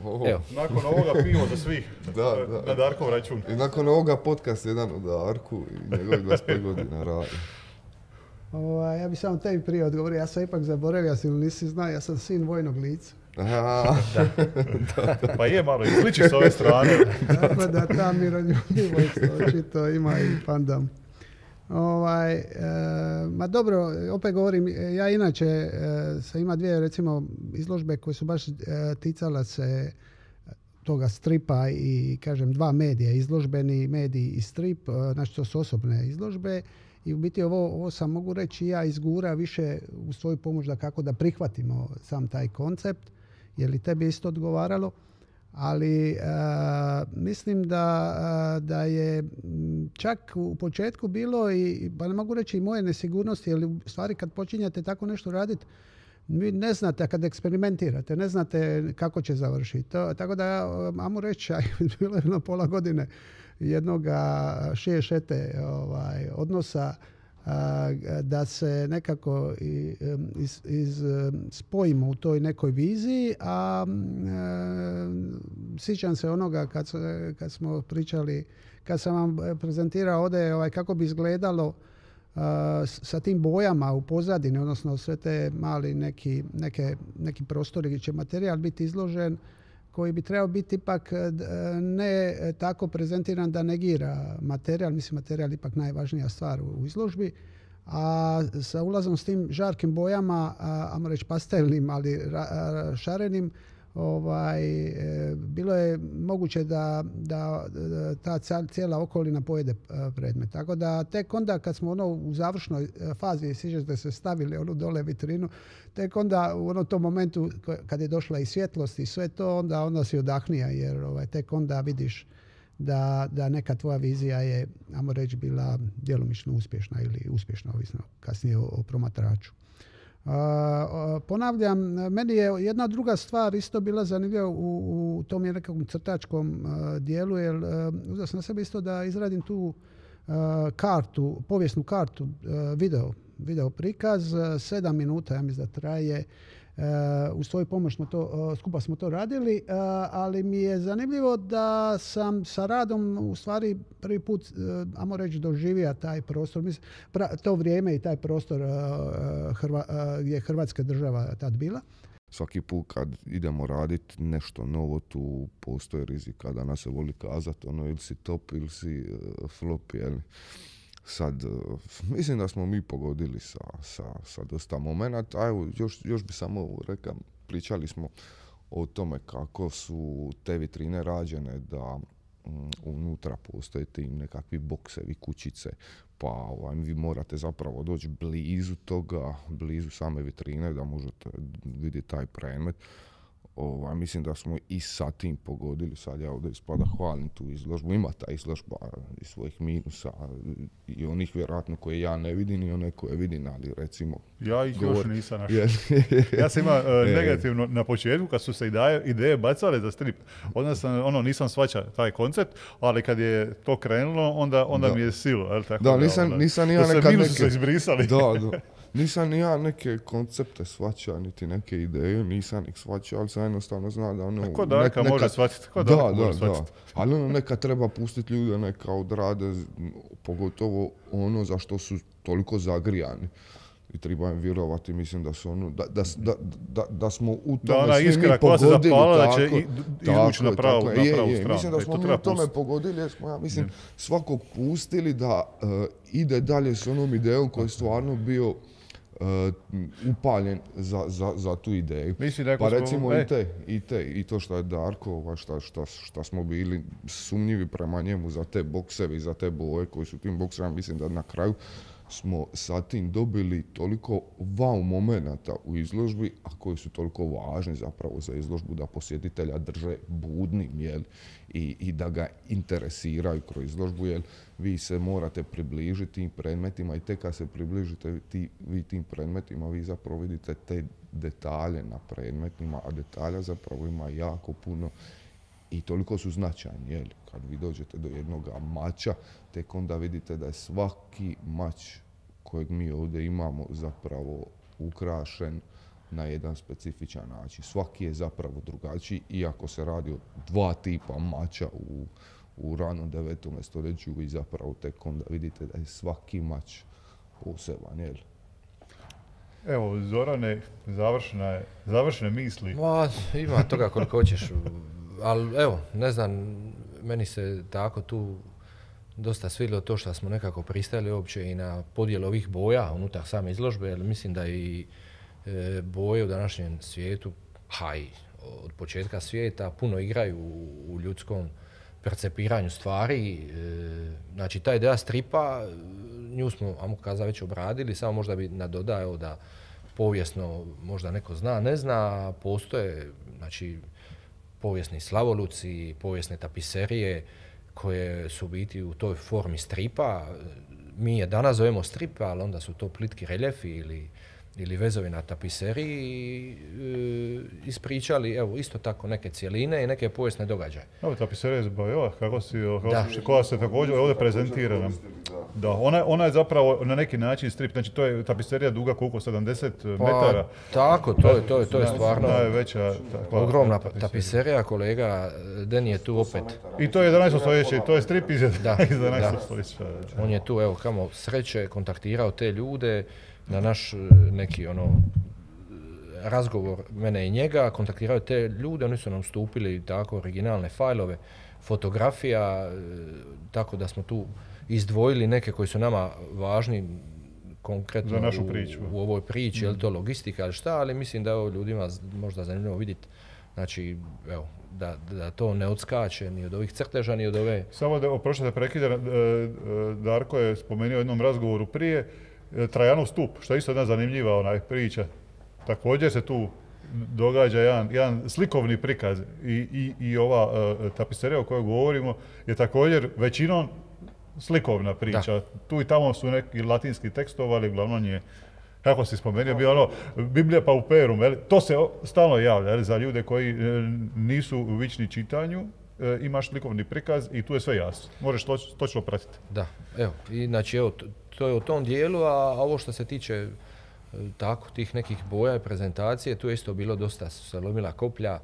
Oh, evo. Nakon ovoga pivo za svih, da, da. Na Darkov račun. I nakon ovoga podcast jedan o Darku i njegovih dvadeset pet godina radi. O, ja bih samo tebi prije odgovorio, ja sam ipak zaboravio, ja si nisi znao, ja sam sin vojnog lica. da. da. Pa je malo, izliči s ove strane. Tako da ta miroljubivost očito ima i pandam. Ovaj, e, ma dobro, opet govorim, ja inače e, sam ima dvije recimo izložbe koje su baš e, ticala se toga stripa i kažem dva medija, izložbeni medij i strip, e, znači to su osobne izložbe i u biti ovo, ovo sam mogu reći ja izgura više u svoju pomoć da kako da prihvatimo sam taj koncept, jer i tebi isto odgovaralo. ali a, mislim da, a, da je čak u početku bilo i, pa ne mogu reći i moje nesigurnosti, jer u stvari kad počinjete tako nešto raditi, vi ne znate, kad eksperimentirate, ne znate kako će završiti. To, tako da, ajmo reći, bilo je na pola godine jednoga šešete ovaj, odnosa, a, da se nekako iz, iz, spojimo u toj nekoj viziji, a, a sjećam se onoga kad, kad smo pričali, kad sam vam prezentirao ovdje ovaj, kako bi izgledalo Uh, sa tim bojama u pozadini, odnosno sve te mali neki, neke, neki prostori gdje će materijal biti izložen, koji bi trebao biti ipak ne tako prezentiran da negira materijal. Mislim, materijal je ipak najvažnija stvar u, u izložbi. A sa ulazom s tim žarkim bojama, ajmo reći pastelnim, ali ra, ra, šarenim, ovaj, e, bilo je moguće da, da, da ta cijela okolina pojede predmet. Tako da tek onda kad smo ono u završnoj fazi, sjećate se, stavili onu dole vitrinu, tek onda u onom tom momentu kad je došla i svjetlost i sve to, onda, onda si odahnija, jer ovaj, tek onda vidiš da, da neka tvoja vizija je, ajmo reći, bila djelomično uspješna ili uspješna, ovisno kasnije o, o promatraču. Uh, uh, ponavljam, meni je jedna druga stvar isto bila zanimljiva u, u tom je nekakvom crtačkom uh, dijelu, jer uh, uzeo sam na sebe isto da izradim tu uh, kartu, povijesnu kartu, uh, video, video prikaz, uh, sedam minuta, ja mislim da traje. Uh, uz svoju pomoć smo to, uh, skupa smo to radili, uh, ali mi je zanimljivo da sam sa radom u stvari prvi put, uh, ajmo reći, doživio taj prostor, mislim, pra, to vrijeme i taj prostor uh, Hrva, uh, gdje je Hrvatska država tad bila. Svaki put kad idemo raditi nešto novo, tu postoji rizika da nas se voli kazati, ono, ili si top ili si uh, flop, jel? Sad, uh, mislim da smo mi pogodili sa, sa, sa dosta momenata. Evo, još, još bi samo rekao, pričali smo o tome kako su te vitrine rađene, da um, unutra postoje ti nekakvi boksevi, kućice, pa ovaj, vi morate zapravo doći blizu toga, blizu same vitrine da možete vidjeti taj predmet. Ovaj, mislim da smo i sa tim pogodili. Sad ja ovdje ispada hvalim tu izložbu. Ima ta izložba i svojih minusa i onih vjerojatno koje ja ne vidim i one koje vidim, ali recimo... Ja ih govor... još nisam našao. Ja sam imao uh, negativno na početku kad su se ideje, ideje bacale za strip. Onda sam, ono, nisam shvaćao taj koncept, ali kad je to krenulo, onda, onda mi je silo. El, tako da, da, nisam, onda, nisam ja nekad minusi neke... su izbrisali. Da, da. Nisam ni ja neke koncepte shvaćao, niti neke ideje, nisam ih shvaćao, ali sam jednostavno zna da ono... Ko Darka neka... može shvatiti, ko da, Darka da, može shvatiti. Da. Ali ono neka treba pustiti ljude, neka odrade, pogotovo ono za što su toliko zagrijani. I treba im vjerovati, mislim da su ono, da, da, da, da, da smo u tome da, svi mi pogodili. Da, zapala, da će izvući na pravu, na pravu je, stranu. Je, mislim da smo mi u tome pustiti. Pogodili, jer smo, ja mislim, svakog pustili da uh, ide dalje s onom idejom koji je stvarno bio Uh, upaljen za, za, za tu ideju. Mislim, pa recimo smo, i, te, i te, i to što je Darko, šta, šta, šta smo bili sumnjivi prema njemu za te boksevi, za te boje koji su tim boksevima, mislim da na kraju smo sa tim dobili toliko wow momenata u izložbi, a koji su toliko važni zapravo za izložbu da posjetitelja drže budnim, jel? I, i da ga interesiraju kroz izložbu, jer vi se morate približiti tim predmetima i tek kad se približite ti, vi tim predmetima, vi zapravo vidite te detalje na predmetima, a detalja zapravo ima jako puno i toliko su značajni, jel? Kad vi dođete do jednog mača, tek onda vidite da je svaki mač kojeg mi ovdje imamo zapravo ukrašen na jedan specifičan način. Svaki je zapravo drugačiji, iako se radi o dva tipa mača u, u ranom devetom stoljeću i zapravo tek onda vidite da je svaki mač poseban, jel? Evo, Zorane, završne, završne misli. Ma, ima toga koliko hoćeš, ali evo, ne znam, meni se tako tu dosta svidjelo to što smo nekako pristali uopće i na podjelu ovih boja unutar same izložbe, jer mislim da i e, boje u današnjem svijetu, ha i od početka svijeta, puno igraju u, u ljudskom percepiranju stvari. E, znači, ta ideja stripa, nju smo, ajmo kazati, već obradili, samo možda bi nadodao da povijesno možda neko zna, ne zna, postoje, znači, povijesni slavoluci, povijesne tapiserije koje su biti u toj formi stripa. Mi je danas zovemo strip, ali onda su to plitki reljefi ili ili vezovi na tapiseriji e, ispričali, evo, isto tako neke cjeline i neke povijesne događaje. Evo, tapiserija iz Bajova, kako si, koja se također ovdje prezentira nam. Da, ona, ona je zapravo na neki način strip, znači to je tapiserija duga koliko, sedamdeset pa, metara? Tako, to je, to je, to je stvarno najveća, takva, ogromna tapiserija. tapiserija, kolega Deni je tu opet. I to je jedanaesto stoljeće, to je strip iz jedanaestog stoljeća. On je tu, evo, kamo sreće, kontaktirao te ljude, na naš neki ono razgovor mene i njega, kontaktiraju te ljude, oni su nam stupili tako originalne fajlove, fotografija, tako da smo tu izdvojili neke koji su nama važni konkretno za našu priču. U, u ovoj priči, mm. je li to logistika ili šta, ali mislim da je ovo ljudima možda zanimljivo vidjeti. Znači, evo, da, da to ne odskače ni od ovih crteža, ni od ove... Samo da, oprošta da prekidam, Darko je spomenuo u jednom razgovoru prije, Trajanov stup, što je isto jedna zanimljiva onaj priča. Također se tu događa jedan, jedan slikovni prikaz i, i, i ova uh, tapiserija o kojoj govorimo je također većinom slikovna priča. Da. Tu i tamo su neki latinski tekstovi, ali uglavnom je, kako si spomenuo, bio ono Biblija pauperum, jel? To se stalno javlja, jel? Za ljude koji e, nisu vični čitanju. E, imaš slikovni prikaz i tu je sve jasno. Možeš to, točno pratiti. Da, evo, i znači evo, to, to je u tom dijelu, a ovo što se tiče e, tako tih nekih boja i prezentacije, tu je isto bilo dosta, su se lomila koplja,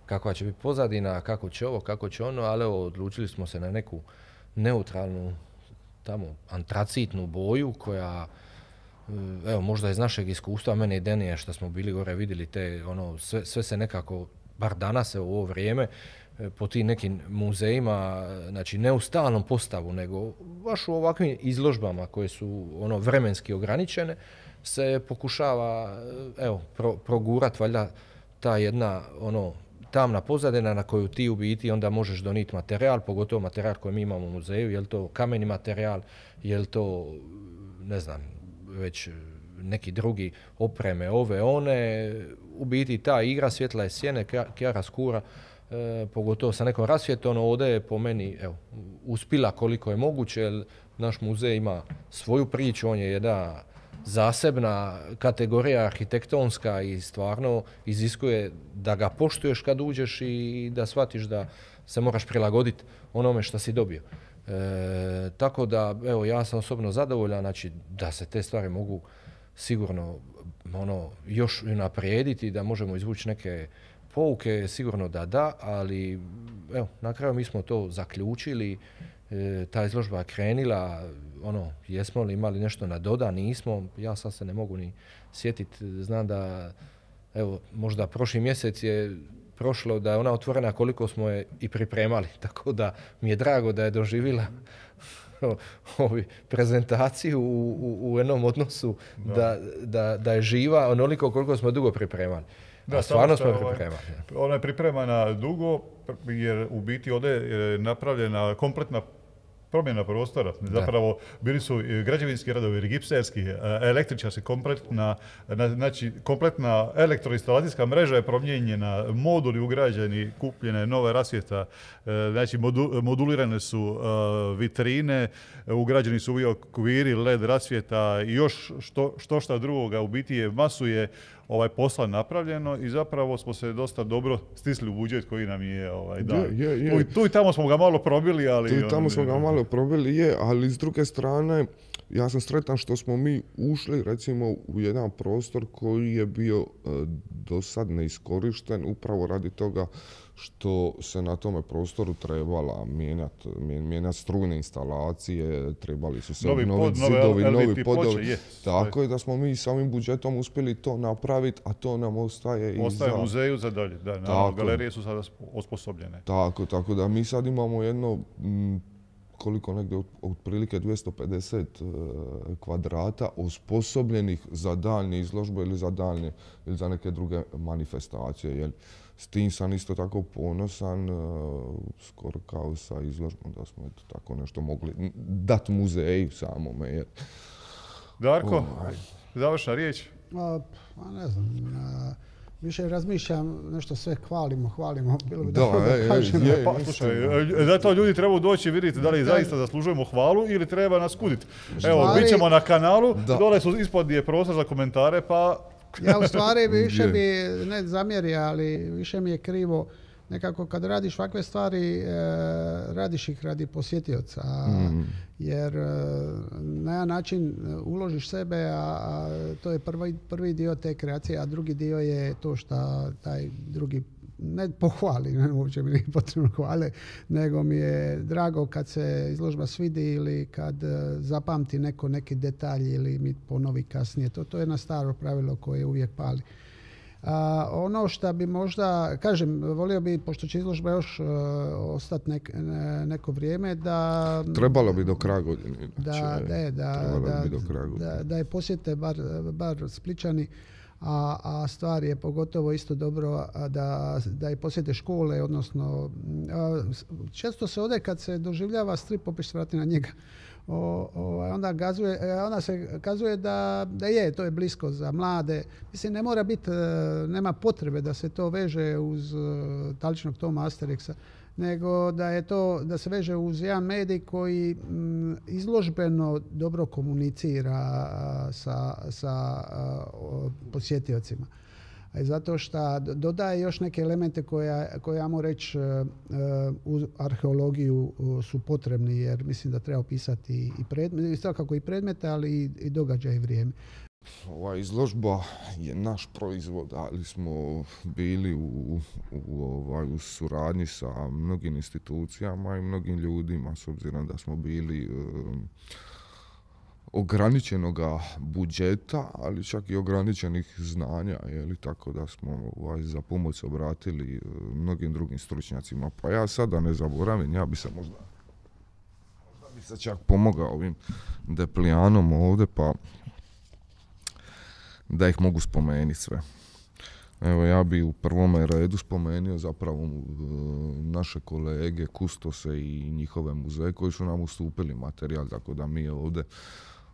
kakva će biti pozadina, kako će ovo, kako će ono, ali evo, odlučili smo se na neku neutralnu, tamo, antracitnu boju koja, e, evo, možda iz našeg iskustva, mene i Denija, što smo bili gore vidjeli te, ono, sve, sve se nekako, bar danas u ovo vrijeme, po tim nekim muzejima, znači ne u stalnom postavu, nego baš u ovakvim izložbama koje su ono vremenski ograničene, se pokušava, evo, pro, progurat valjda ta jedna ono tamna pozadina na koju ti u biti onda možeš donijeti materijal, pogotovo materijal koji mi imamo u muzeju, je li to kameni materijal, je li to, ne znam, već neki drugi opreme, ove, one, u biti ta igra svjetla i sjene, kjara skura, E, pogotovo sa nekom rasvjetom, ovdje je po meni evo, uspila koliko je moguće, jer naš muzej ima svoju priču, on je jedna zasebna kategorija arhitektonska i stvarno iziskuje da ga poštuješ kad uđeš i da shvatiš da se moraš prilagoditi onome što si dobio. E, tako da, evo, ja sam osobno zadovoljan, znači da se te stvari mogu sigurno ono, još unaprijediti, da možemo izvući neke pouke, sigurno da da, ali evo, na kraju mi smo to zaključili, e, ta izložba je krenila, ono, jesmo li imali nešto na doda, nismo, ja sad se ne mogu ni sjetiti, znam da, evo, možda prošli mjesec je prošlo da je ona otvorena koliko smo je i pripremali, tako da mi je drago da je doživjela ovi prezentaciju u, u, u jednom odnosu da. Da, da, da je živa onoliko koliko smo dugo pripremali. Da, stvarno smo pripremali. Ona je pripremana dugo jer u biti ovdje je napravljena kompletna promjena prostora. Zapravo bili su građevinski radovi, gipserski, električarski, kompletna, znači kompletna elektroinstalacijska mreža je promijenjena, moduli ugrađeni, kupljene nove rasvjeta, znači modu, modulirane su vitrine, ugrađeni su okviri, led rasvjeta i još što, što šta drugoga. U biti je masu je ovaj posla napravljeno i zapravo smo se dosta dobro stisli u budžet koji nam je ovaj, dan. Je, je, je. Tu, tu i tamo smo ga malo probili, ali... Tu i tamo ono, smo ga malo probili, je, ali s druge strane, ja sam sretan što smo mi ušli, recimo, u jedan prostor koji je bio e, do sad neiskorišten, upravo radi toga što se na tome prostoru trebala mijenjati mijenjat strujne instalacije, trebali su se obnoviti zidovi, novi podovi. Yes. Tako je da smo mi samim budžetom uspjeli to napraviti, a to nam ostaje i ostaje za... u muzeju za dalje. Da, na galerije su sada osposobljene. Tako, tako da mi sad imamo jedno, m, koliko negdje, otprilike dvjesto pedeset uh, kvadrata osposobljenih za daljnje izložbe ili za daljnje ili za neke druge manifestacije. Jel? S tim sam isto tako ponosan, uh, skoro kao sa izložbom, da smo eto tako nešto mogli dati muzeju samome. Jer... Darko, oh, završna riječ? A, ne znam. A, više razmišljam, nešto sve hvalimo, hvalimo, bilo bi Da, dobro da ej, ej, kažemo. je. Pa, slušaj, e, zato ljudi trebaju doći vidjeti da li zaista zaslužujemo hvalu ili treba nas kuditi. Evo, Stvari- bit ćemo na kanalu, Da. dole su ispod je prostor za komentare, pa Ja u stvari više Je. bi, ne zamjerio, ali više mi je krivo. Nekako kad radiš ovakve stvari, e, radiš ih radi posjetioca. a- Mm. Jer e, na jedan način uložiš sebe, a, a to je prvi, prvi dio te kreacije, a drugi dio je to što taj drugi ne pohvali, ne, uopće mi nije potrebno hvale, nego mi je drago kad se izložba svidi ili kad e, zapamti neko neki detalj ili mi ponovi kasnije. To, to je jedno staro pravilo koje uvijek pali. A, ono što bi možda, kažem, volio bi, pošto će izložba još uh, ostati nek, ne- neko vrijeme, da... Trebalo bi do kraja godine. Da, inače, da, da, trebalo da, bi do kraja godine. da, da je posjete bar, bar Spličani, a, a stvar je pogotovo isto dobro a, da, da i posjete škole, odnosno a, s- često se ode kad se doživljava strip, opet se vrati na njega. O, o, onda, gazuje, e, onda se kazuje da, da je, to je blisko za mlade. Mislim, ne mora biti, e, nema potrebe da se to veže uz e, Taličnog Toma Asterixa, nego da je to, da se veže uz jedan medij koji mm, izložbeno dobro komunicira a, sa, sa a, o, posjetiocima. A i zato što dodaje još neke elemente koje, koje ja mogu reći e, e, u arheologiju e, su potrebni, jer mislim da treba opisati i predmete, svakako i predmete, ali i, i događaj i vrijeme. Ova izložba je naš proizvod, ali smo bili u, u, ovaj, u suradnji sa mnogim institucijama i mnogim ljudima, s obzirom da smo bili um, ograničenoga budžeta, ali čak i ograničenih znanja, jeli, tako da smo ovaj, za pomoć obratili uh, mnogim drugim stručnjacima. Pa ja sada ne zaboravim, ja bi se možda, možda bi se čak pomogao ovim Deplijanom ovdje, pa da ih mogu spomenuti sve. Evo, ja bi u prvome redu spomenuo zapravo uh, naše kolege, kustose i njihove muzeje koji su nam ustupili materijal, tako da mi ovdje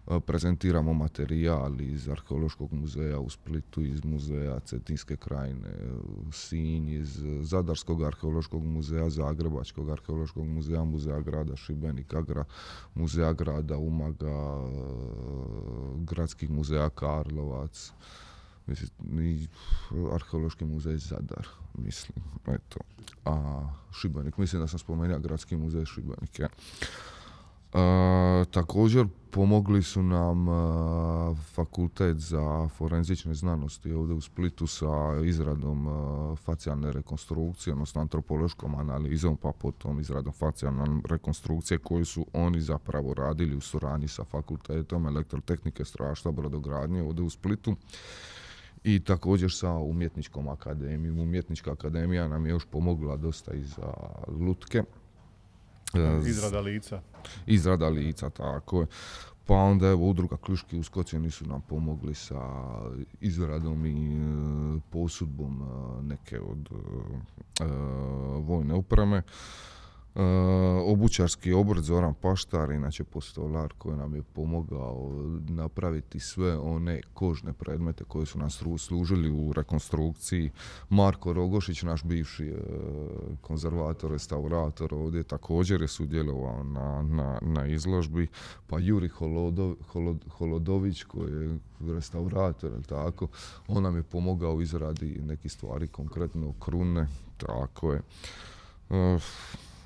uh, prezentiramo materijal iz Arheološkog muzeja u Splitu, iz muzeja Cetinske krajine, uh, Sinj, iz Zadarskog arheološkog muzeja, Zagrebačkog arheološkog muzeja, muzeja grada Šibenika, gra, muzeja grada Umaga, uh, gradskih muzeja Karlovac, mislim, i Arheološki muzej Zadar, mislim, eto. A Šibenik, mislim da sam spomenuo Gradski muzej Šibenik, ja. E, također pomogli su nam e, Fakultet za forenzične znanosti ovdje u Splitu sa izradom e, facijalne rekonstrukcije, odnosno antropološkom analizom, pa potom izradom facijalne rekonstrukcije koju su oni zapravo radili u suradnji sa Fakultetom elektrotehnike, strojarstva, brodogradnje ovdje u Splitu. I također sa umjetničkom akademijom. Umjetnička akademija nam je još pomogla dosta i za lutke. izrada lica. Izrada lica, tako je. Pa onda evo udruga Kljuški uskoci su nam pomogli sa izradom i e, posudbom e, neke od e, vojne opreme. E, obućarski obrt Zoran Paštar, inače postolar koji nam je pomogao napraviti sve one kožne predmete koji su nam služili u rekonstrukciji. Marko Rogošić, naš bivši e, konzervator, restaurator ovdje također je sudjelovao na, na, na izložbi. Pa Juri Holodov, Holod, Holodović koji je restaurator, tako, on nam je pomogao u izradi nekih stvari, konkretno krune, tako je. E,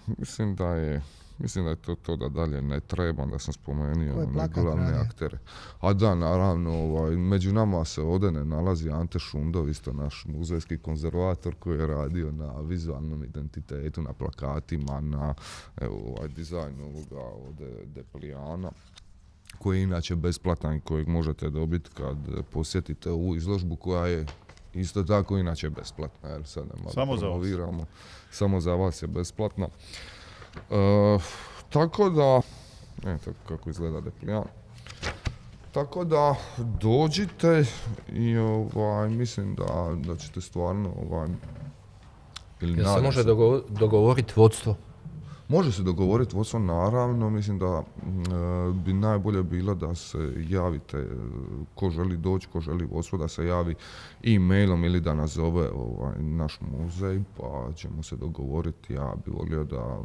Mislim da je, mislim da je to to da dalje ne treba, da sam spomenuo glavne aktere. A da, naravno, ovaj, među nama se ovdje ne nalazi Ante Šundov, isto naš muzejski konzervator koji je radio na vizualnom identitetu, na plakatima, na evo, ovaj, dizajnu ovoga ovdje Deplijana, koji je inače besplatan i kojeg možete dobiti kad posjetite ovu izložbu koja je isto tako inače besplatna, jer sad ne malo Samo promoviramo. Samo za vas je besplatna. E, tako da, eto kako izgleda Deplijan. Tako da dođite i ovaj, mislim da, da ćete stvarno ovaj, ili Jel se nadam može se- dogo- dogovoriti vodstvo? Može se dogovoriti vodstvo, naravno, mislim da e, bi najbolje bilo da se javite, ko želi doći, ko želi vodstvo, da se javi e-mailom ili da nazove ovaj, naš muzej, pa ćemo se dogovoriti. Ja bi volio da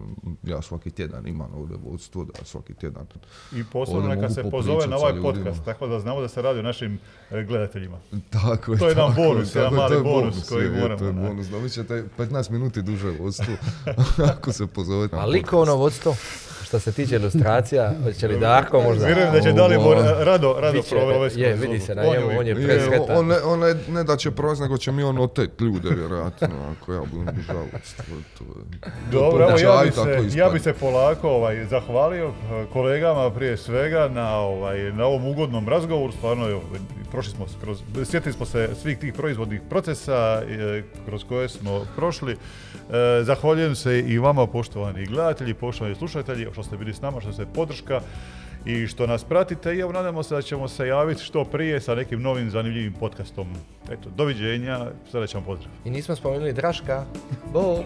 ja svaki tjedan imam ovdje vodstvo, da svaki tjedan i posebno neka se pozove na ovaj podcast, tako da znamo da se radi o našim gledateljima. Tako je, to je jedan tako, bonus, tako, jedan mali je bonus, bonus koji je, moramo. To je bonus, dobit ćete petnaest minuti duže vodstvo ako se pozovete. A likovno vodstvo, što se tiče ilustracija, hoće li Darko možda? Vjerujem da će Dalibor rado, rado provesti. Je, vidi se na njemu, on je presretan. On, on, on ne, ne da će provesti, nego će mi on otet ljude, vjerojatno, ako ja budem držao vodstvo. Dobro, evo ja bi se, ja bi se polako ovaj, zahvalio kolegama prije svega na, ovaj, na ovom ugodnom razgovoru. Stvarno, evo, prošli smo kroz, sjetili smo se svih tih proizvodnih procesa e, kroz koje smo prošli. E, zahvaljujem se i vama, poštovani gledatelji, poštovani slušatelji, što ste bili s nama, što ste podrška i što nas pratite. I evo, nadamo se da ćemo se javiti što prije sa nekim novim zanimljivim podcastom. Eto, doviđenja, srećan pozdrav. I nismo spomenuli Draška. Bo!